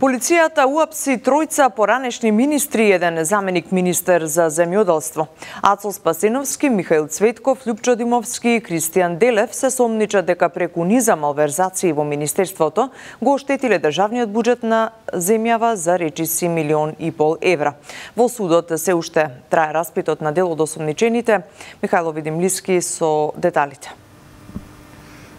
Полицијата уапси тројца поранешни министри и еден заменик министер за земјоделство. Ацо Спасеновски, Михаил Цветков, Љупчо Димовски и Кристијан Делев се сомничат дека преку низа малверзации во министерството го оштетиле државниот буџет на земјава за речиси 1,5 милион евра. Во судот се уште трае распитот на дел од осомничените. Михајло Видимлиски со деталите.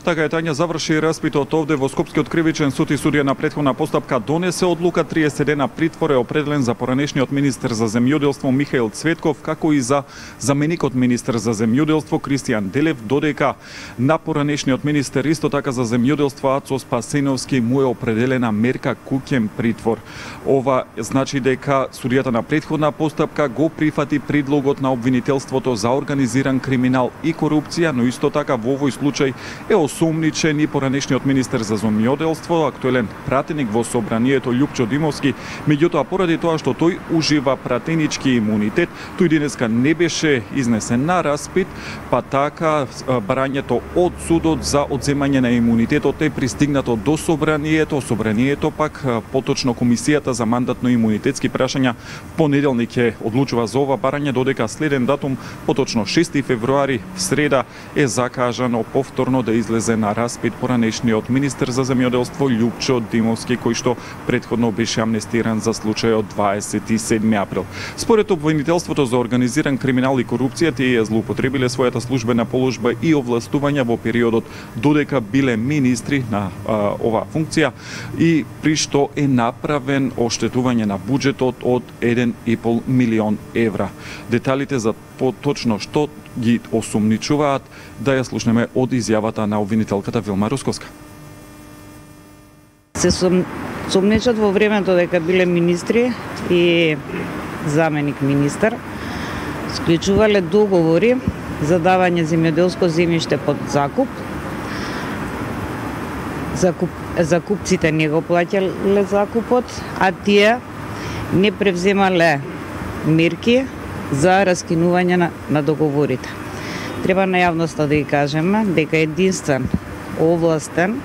Така е, Тања, заврши распитот овде во Скопскиот кривичен суд и судија на претходна постапка донесе одлука 30 дена притвор е определен за поранешниот министер за земјоделство Михаил Цветков, како и за заменикот министер за земјоделство Кристијан Делев, додека на поранешниот министер исто така за земјоделство Ацо Спасеновски му е определена мерка куќен притвор. Ова значи дека судијата на претходна постапка го прифати предлогот на обвинителството за организиран криминал и корупција, но исто така во овој случај е осомничен и поранешниот министер за земјоделство, актуелен пратеник во собранието Љупчо Димовски, меѓутоа поради тоа што тој ужива пратенички имунитет, тој денеска не беше изнесен на распит, па така барањето од судот за одземање на имунитетот е пристигнато до собранието пак поточно комисијата за мандатно-имунитетски прашања понеделник е одлучува за ова барање, додека следен датум, поточно 6 февруари, среда, е закажано повторно да излезе на распит поранешниот министер за земјоделство Љупчо Димовски, кој што претходно беше амнестиран за случајот 27 април. Според обвинителството за организиран криминал и корупција, тие злоупотребиле својата службена положба и овластувања во периодот додека биле министри на оваа функција и при што е направен оштетување на буџетот од 1,5 милион евра. Деталите за поточно што ги осомничуваат да ја слушнеме од изјавата на обвинителката Вилма Русковска. Се сомничат во времето дека биле министри и заменик министер, склучувале договори за давање земјоделско земјиште под закуп. Закупците не го плаќале закупот, а тие не превземале мерки за раскинување на договорите. Треба на јавноста да ги кажеме дека единствен овластен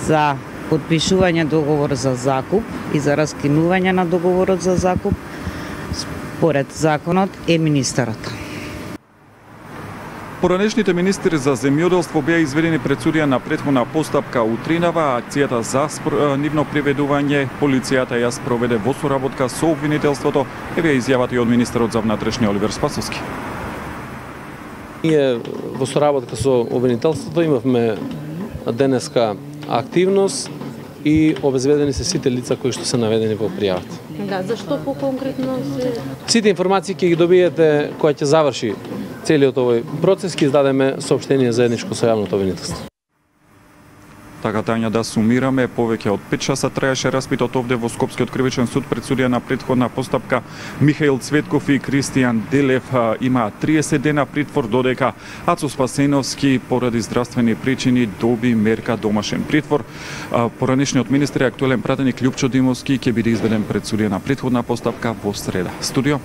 за потпишување договор за закуп и за раскинување на договорот за закуп според законот е министерот. Поранешните министри за земјоделство беа изведени пред судија на претходна постапка утринава. Акцијата за нивно приведување полицијата ја спроведе во соработка со обвинителството, еве изјавата и од министерот за внатрешни Оливер Спасовски. Ние во соработка со обвинителството имавме денеска активност и обезведени се сите лица кои што се наведени во пријавата. Да, зашто поконкретно се... Сите информации ќе ги добиете кога ќе заврши целиот овој процес, ќе издадеме соопштение заедничко со јавното обвинителство. Така, Тања, да сумираме, повеќе од 5 часа траеше распитот овде во Скопскиот кривичен суд пред судија на претходна постапка. Михаил Цветков и Кристијан Делев имаат 30 дена притвор, додека Ацо Спасеновски поради здравствени причини доби мерка домашен притвор. Поранешниот министер и актуелен пратеник Љупчо Димовски ќе биде изведен пред судија на претходна постапка во среда. Студио.